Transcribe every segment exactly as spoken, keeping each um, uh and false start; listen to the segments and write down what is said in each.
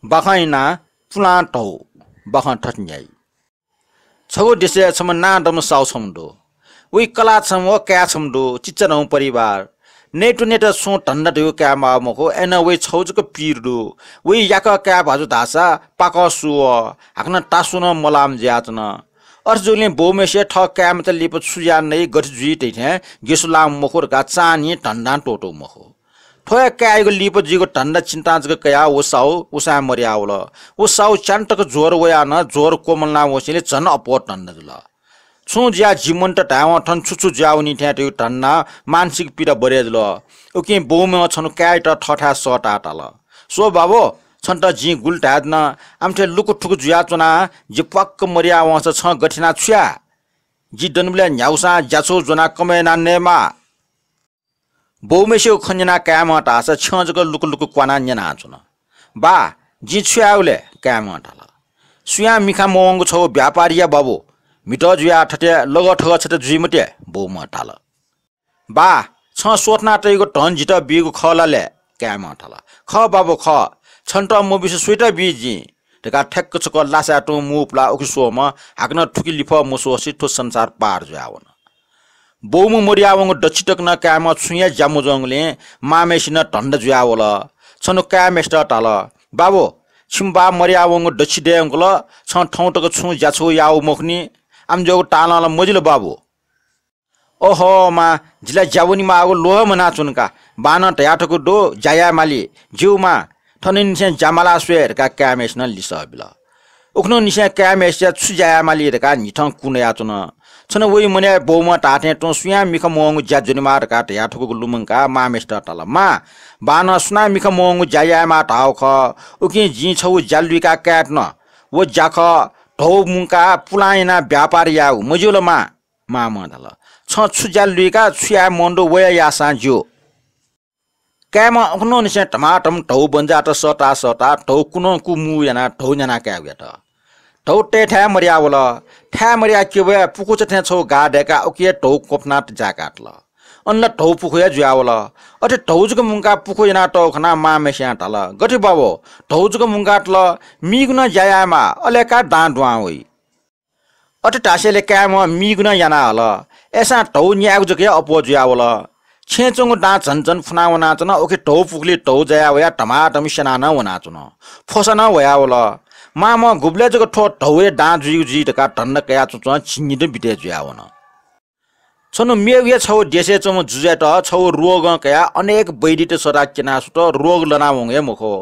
बाखं इनाः पुलां धौ। बाखं थथे न्ह्याइ। छगू देशय् छम्ह नांदम्ह साहु छम्ह दु। वइ कलाः छम्ह व काय् छम्ह दु, चिच्चाधंगु परिवार। नयेत्वनेत छुं धन्दा धइगु काये माः मखु, अय्‌नं वइ छगू जक पीर दु। वइ याकः काये भाजु धाःसा पाकः सु वः, हाकनं तासु नं मलाःम्ह जुयाच्वन। अथे जूगुलिं बौम्हेसिया थः काय्‌मचा लिपा छु याये नइ, गथे जुइ धइथें गेसु लाःम्ह मखु धकाः चान्हिं धन्दां त्वःतूगु मखु। थ्व हे काय्‌यागु लिपा जुइगु धन्दा चिन्तां जक कयाः व साहु उसाँय् मदयावल। व साहु च्यान्हु तक ज्वर वयाः नं ज्वर क्वमलाना वंसेंलि झन अप्वः धन्दा जुल। छुं जुयाः जि मन्त धायेवं थन छु छु जुयावनी थें धइगु धन्दां मानसिक पीडा बरय् जुल। उकिं बौम्हं छन्हु काय्‌यात थःथाय् सःताः धाल, स्व बाबु, छन्त जिं गुलि धायेधुन, आमथे लुकुथुकु जुयाच्वनाः जि प्वाक्क मदया वंसा छं गथे यानाः छु याये? जि दनिबलय् न्ह्यागुसां ज्याछौ ज्वनाः कमय् यानाः नयेमाः। बौम्हेसिगु खँ न्यनाः काय्‌म्हं धाःसा छ्यं जक लुकुलुकु क्वानाः न्यनाच्वन। बा, जिं छु यायेगु ले? काय्‌म्हं धाल। सुयां मिखा मवंगु छगू व्यापारी या बाबु, म्हितः जुयाः थथे लगःथगः छता जुइ मते, बौम्हं धाल। बा, छं स्वथना तइगु धन जितः बीगु खः ला ले? काय्‌म्हं धाल। खः बाबु, खः, छन्त मबिसे सुइत बी जिं? धकाः ठ्याक्क छकः लासाय् तुं मू पुलाः उखे स्वःम्हं हाकनं थुखे लिफः मस्वःसे थ्व संसार पार जुयावन। बौम्ह मदयावंगु दच्छि तक नं काय्‌म्हं छुं हे ज्या मजूगुलिं मांम्हेसिनं धन्दा जुयावल। छन्हु काय्‌म्हेसित धाल, बाबु, छिमि बा मदयावंगु दच्छि दये धुंकल, छं थौं तक छुं ज्याछौ याःगु मखुनि, आमज्याःगु तालं ला मजिल बाबु। ओहो मां, जि ला ज्या वनेमाःगु ल्वहं म्वानाच्वना का। बानं धयाथकूगु दु, ज्या याये माली। ज्यू मां, थनंनिसें ज्या मालाः स्वये धकाः काय्‌म्हेसिनं लिसः बिल। उखुन्हुनिसें काय्‌म्हेसिया छु ज्या याये माली धकाः न्हिथं कु नयाच्वन। छन्हु वइ मनय् बौम्हं धाःथें तुं सुयां मिखा मवंगु ज्या ज्वनेमाः धकाः धयाथकूगु लुमंकाः मांम्हेसित धाल, मां, बानं सुनां मिखा मवंगु ज्या यायेमाः धाःगु खः, उकिं जिं छगू ज्या लुइकाः काये धुन। व ज्या खः, धौ मुंकाः पुलां यानाः व्यापार यायेगु, मज्यू ला मां? मांम्हं धाल, छं छु ज्या लुइकाः छु याये मन दु व हे याःसां ज्यू। काय्‌म्हं उखुन्हुनिसें धमाधम धौ बन्जाःत सःताः सःताः धौ कुनं कु मू यानाः धौ न्याना कायेगु यात। धौ तयेथाय् मदयावल। थाय् मदयाः क्यबय् पुखुचा थें छगू गाः दय्काः उकी हे धौ क्वफुनाः जाय्‌कातल। अन ला धौ पुखू हे जुयावल। अथे धौ जक मुंकाः पुखू यानातःगु खनाः मांम्हेस्यां धाल, गथे बाबु, धौ जक मुंकातल, मीगु नं ज्या यायेमाः, अले का दां दुहां वइ। अथे धासेंलि काय्‌म्हं मीगु नं याना हल। अय्‌सां धौ न्यायेगु जक हे अप्वः जुयावल। छेँय् च्वंगु दां झन झन फुना वनाच्वन। उखे धौ पुखुलिइ धौ जाया वयाः धमाधम स्यानाः नं वनाच्वन। फ्वसा नं ह्वयावल। मांम्हं गुबलय् जक थ्व धौया दां जुइगु जुइ धकाः धन्दा कयाच्वंच्वं झिंनिदँ बिते जुयावन। छन्हु मेगु हे छगू देशय् च्वंम्ह जुजुयात छगू रोगं कयाः अनेक वैद्यत सःताः क्यना स्वत, रोग लनावंगु हे मखु।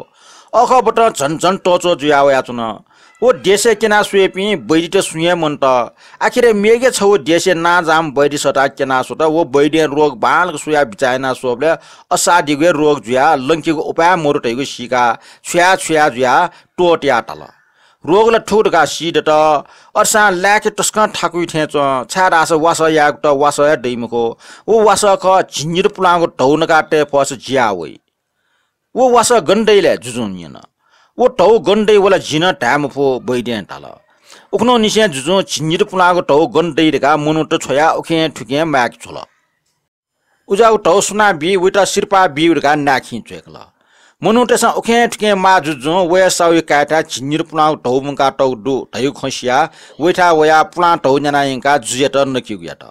अखःबतं झन झन तःच्वः जुया वयाच्वन। व देशय् क्यना स्वइपिं वैद्यत सुं हे मन्त। आखिरय् मेगु हे छगू देशय् नांजाःम्ह वैद्य सःताः क्यना स्वत। व वैद्यं रोग बांलाक स्वयाः बिचाः याना स्वःबलय् असाध्यगु हे रोग जुयाः लंकेगु उपायं मदु धइगु सीकाः छुया छुया जुयाः त्वःतियाः धाल, रोग ला थुगु धकाः सी दत। अथेसां लाय्‌के तसकं थाकुइ थें च्वं, छाय्‌धाःसा वासः यायेगुत वासः हे दइ मखु। व वासः खः, झिंनिदँ पुलांगु धौ नकाः तये फःसा जिया वइ। व वासः गन दइ ले? जुजुं न्यन। व धौ गन दइ व ला जिं नं धाये मफु, वैद्यं धाल। उखुन्हुनिसें जुजुं झिंनिदँ पुलांगु धौ गन दइ धकाः मनूत छ्वयाः उखें थुखें माय्‌के छ्वल। उज्याःगु धौ सुनां बी, वइत सिरपाः बीगु धकाः नाय्‌खिं च्वय्‌कल। मनूतय्‌सं उखें थुखें माः जुजुं वया साहुया काय्‌थाय् झिंनिदँ पुलांगु धौ मुंकातःगु दु धइगु खँ सियाः वइथाय् वयाः पुलां धौ न्याना यंकाः जुजुयात नकेगु यात।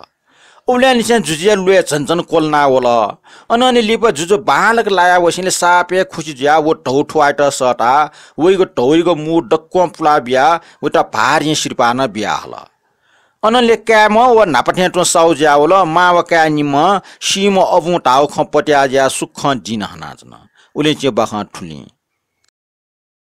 उबलय्‌निसें जुजुया ल्वय् झन झन क्वलना वल। अनंलि लिपा जुजु बांलाक लाया वसेंलि साप हे खुसि जुयाः व धौ थुवायेत सःताः वइगु धौयागु मू दक्वं पुला बियाः वइत भारिं सिरपाः नं बिया हल। अनंलि काय्‌म्ह व न्हापा थें तुं साहु जुयावल। मां व काय् निम्हं सीम्ह अबुं धाःगु खँ पत्याः जुयाः सुखं दिं हनाच्वन। उलिंचिं बाखं थुलिं।